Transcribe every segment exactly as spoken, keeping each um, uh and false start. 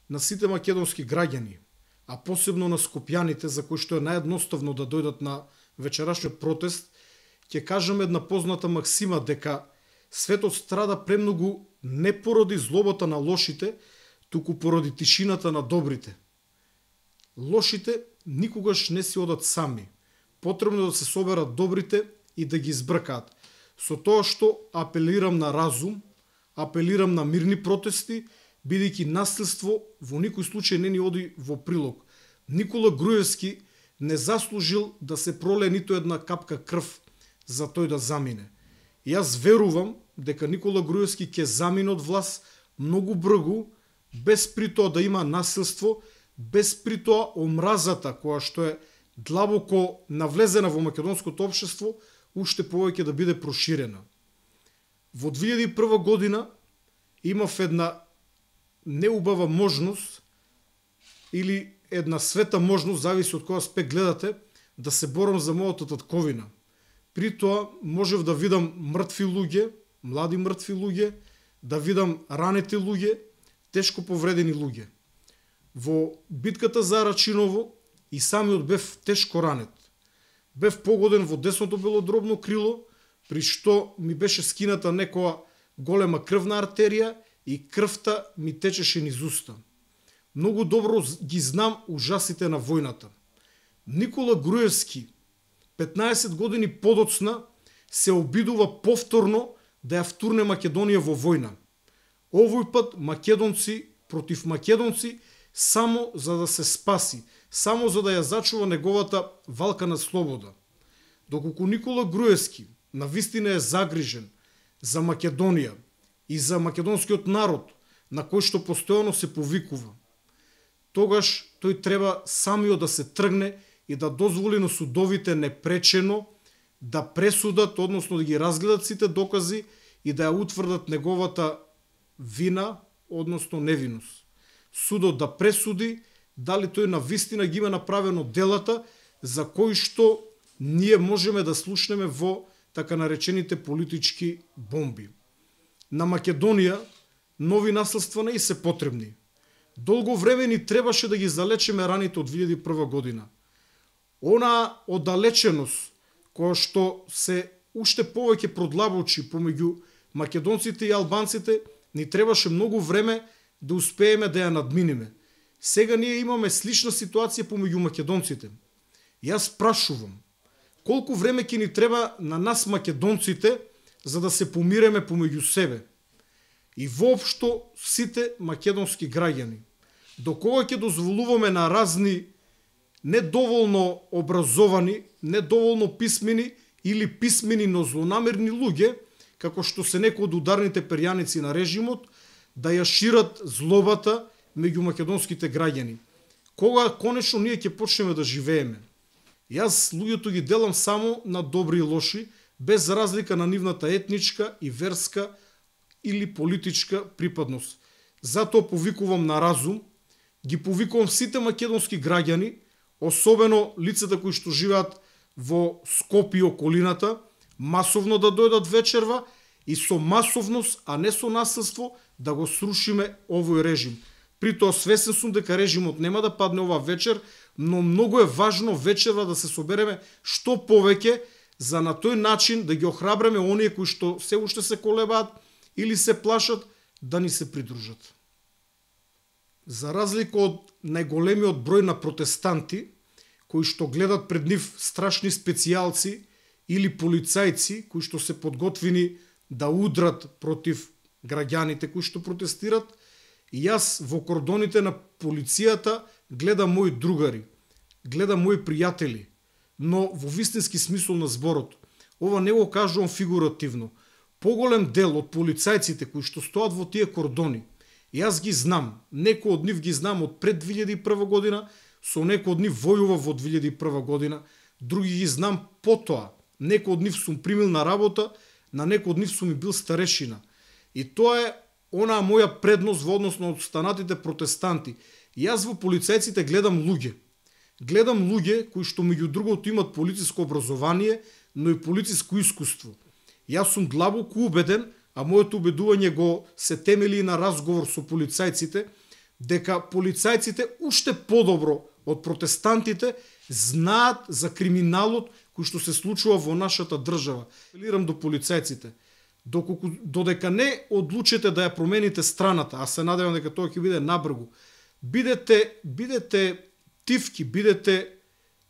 на сите македонски граѓани, а посебно на скопјаните, за кои што е наједноставно да дојдат на вечерашниот протест, ќе кажам една позната максима дека светот страда премногу не поради злобата на лошите, туку поради тишината на добрите. Лошите никогаш не си одат сами. Потребно да се соберат добрите и да ги избркаат. Со тоа што апелирам на разум, апелирам на мирни протести, бидејќи насилство во никој случај не ни оди во прилог. Никола Груевски не заслужил да се пролее ниту една капка крв за тој да замине. И јас верувам дека Никола Груевски ќе замине од власт многу брзо, без при тоа да има насилство, без при тоа омразата која што е длабоко навлезена во македонското општество, уште повеќе да биде проширена. Во две илјади и прва година имав една неубава можност или една света можност, зависи од кој аспект гледате, да се борам за мојата татковина. При тоа можев да видам мртви луѓе, млади мртви луѓе, да видам ранети луѓе, тешко повредени луѓе. Во битката за Рачиново и самиот бев тешко ранет. Бев погоден во десното белодробно крило, при што ми беше скината некоја голема крвна артерија и крвта ми течеше низ уста. Многу добро ги знам ужасите на војната. Никола Груевски, петнаесет години подоцна, се обидува повторно да ја втурне Македонија во војна. Овој пат македонци против македонци, само за да се спаси, само за да ја зачува неговата валка на слобода. Доколку Никола Груевски навистина е загрижен за Македонија и за македонскиот народ, на кој што постојано се повикува, тогаш тој треба самиот да се тргне и да дозволи на судовите непречено да пресудат, односно да ги разгледат сите докази и да ја утврдат неговата вина, односно невиност. Судот да пресуди дали тој навистина ги има направено делата за кои што ние можеме да слушнеме во така наречените политички бомби. На Македонија нови насилства не и се потребни. Долго време ни требаше да ги залечеме раните од две илјади и прва година. Она оддалеченост која што се уште повеќе продлабочи помеѓу македонците и албанците, ни требаше многу време да успееме да ја надминеме. Сега ние имаме слична ситуација помеѓу македонците. Јас прашувам, колку време ќе ни треба на нас македонците за да се помиреме помеѓу себе и воопшто сите македонски граѓани? До кога ќе дозволуваме на разни недоволно образовани, недоволно писмени или писмени, но злонамерни луѓе, како што се некои од ударните перјаници на режимот, да ја шират злобата меѓу македонските граѓани? Кога конечно ние ќе почнеме да живееме? Јас луѓето ги делам само на добри и лоши, без разлика на нивната етничка и верска или политичка припадност. Затоа повикувам на разум, ги повикувам сите македонски граѓани, особено лицата кои што живеат во Скопје и околината, масовно да дојдат вечерва и со масовност, а не со насилство, да го срушиме овој режим. При тоа свесен сум дека режимот нема да падне ова вечер, но многу е важно вечерва да се собереме што повеќе, за на тој начин да ги охрабреме оние кои што се уште се колебаат или се плашат да ни се придружат. За разлика од најголемиот број на протестанти, кои што гледат пред нив страшни специјалци или полицајци, кои што се подготвени да удрат против граѓаните кои што протестират, и јас во кордоните на полицијата гледам мои другари, гледам мои пријатели, но во вистински смисол на зборот. Ова не го кажувам фигуративно. Поголем дел од полицајците кои што стоат во тие кордони, јас ги знам, некои од нив ги знам од пред две илјади и прва година, со некои од нив војува во две илјади и прва година, други ги знам потоа, некои од нив сум примил на работа, на некои од нив сум и бил старешина. И тоа е онаа моја предност во однос на останатите протестанти. Јас во полицајците гледам луѓе. Гледам луѓе кои што меѓу другото имат полициско образование, но и полициско искуство. Јас сум длабоко убеден, а моето убедување го се темели на разговор со полицајците, дека полицајците уште подобро од протестантите знаат за криминалот кој што се случува во нашата држава. Апелирам до полицајците, доколку додека не одлучите да ја промените страната, а се надевам дека тоа ќе биде набргу, бидете бидете тивки, бидете,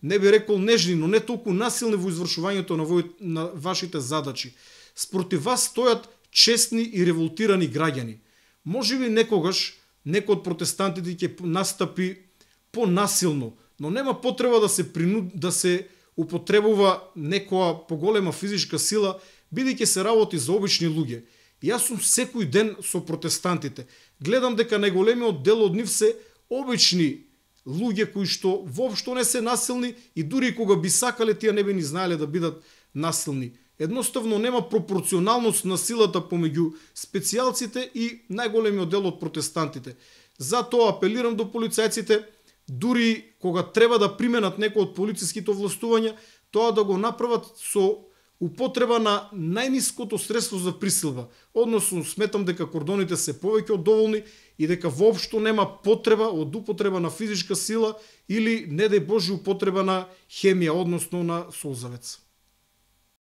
не би рекол нежни, но не толку насилни во извршувањето на, вој, на вашите задачи. Спротив вас стојат честни и револтирани граѓани. Можеби некогаш некој од протестантите ќе настапи понасилно, но нема потреба да се принуд, да се употребува некоја поголема физичка сила, бидејќи се работи за обични луѓе. Јас сум секој ден со протестантите. Гледам дека најголемиот дел од нив се обични луѓе кои што воопшто не се насилни и дури кога би сакале тие не би ни знаеле да бидат насилни. Едноставно нема пропорционалност на силата помеѓу специјалците и најголемиот дел од протестантите. Затоа апелирам до полицајците, дури кога треба да применат некој од полициските овластувања, тоа да го направат со употреба на најниското средство за присилба. Односно, сметам дека кордоните се повеќе од доволни и дека воопшто нема потреба од употреба на физичка сила или, не дај Боже, употреба на хемија, односно на солзавец.